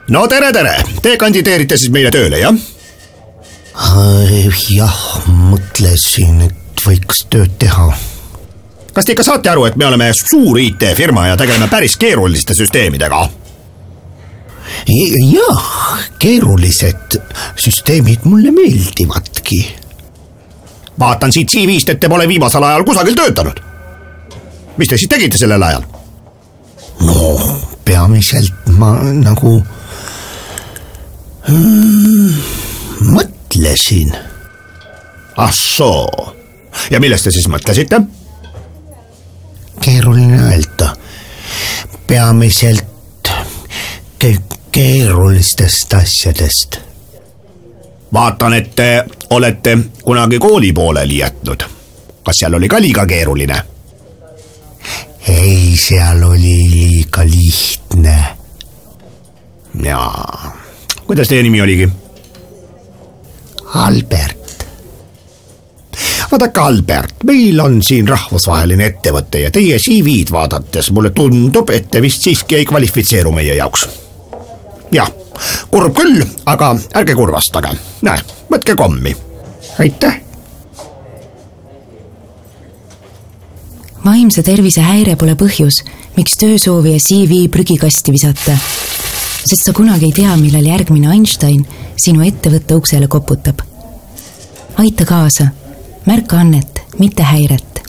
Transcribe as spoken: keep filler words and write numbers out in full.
No tere, tere! Te kandideerite siis meile tööle, jah? Jah, mõtlesin, et võiks tööd teha. Kas te ikka saate aru, et me oleme suur I T-firma ja tegeleme päris keeruliste süsteemidega? Jah, keerulised süsteemid mulle meeldivadki. Vaatan siit C V-st, et te pole viimasel ajal kusagil töötanud. Mis te siis tegite sellel ajal? No, peamiselt ma nagu hmm, mõtlesin. Ah soo. Ja millest te siis mõtlesite? Keeruline öelda. Peamiselt ke keerulistest asjadest. Vaatan, et te olete kunagi kooli pooleli jätnud. Kas seal oli ka liiga keeruline? Ei, seal oli liiga lihtne. Jaa. Kuidas teie nimi oligi? Albert. Vaadake, Albert, meil on siin rahvusvaheline ettevõtte ja teie C V-d vaadates mulle tundub, et te vist siiski ei kvalifitseeru meie jaoks. Jah, kurb küll, aga ärge kurvastage. Näe, võtke kommi. Aitäh. Vaimse tervise häire pole põhjus, miks töösoovija C V prügikasti visata, sest sa kunagi ei tea, millal järgmine Einstein sinu ettevõtte uksele koputab. Aita kaasa, märka annet, mitte häiret.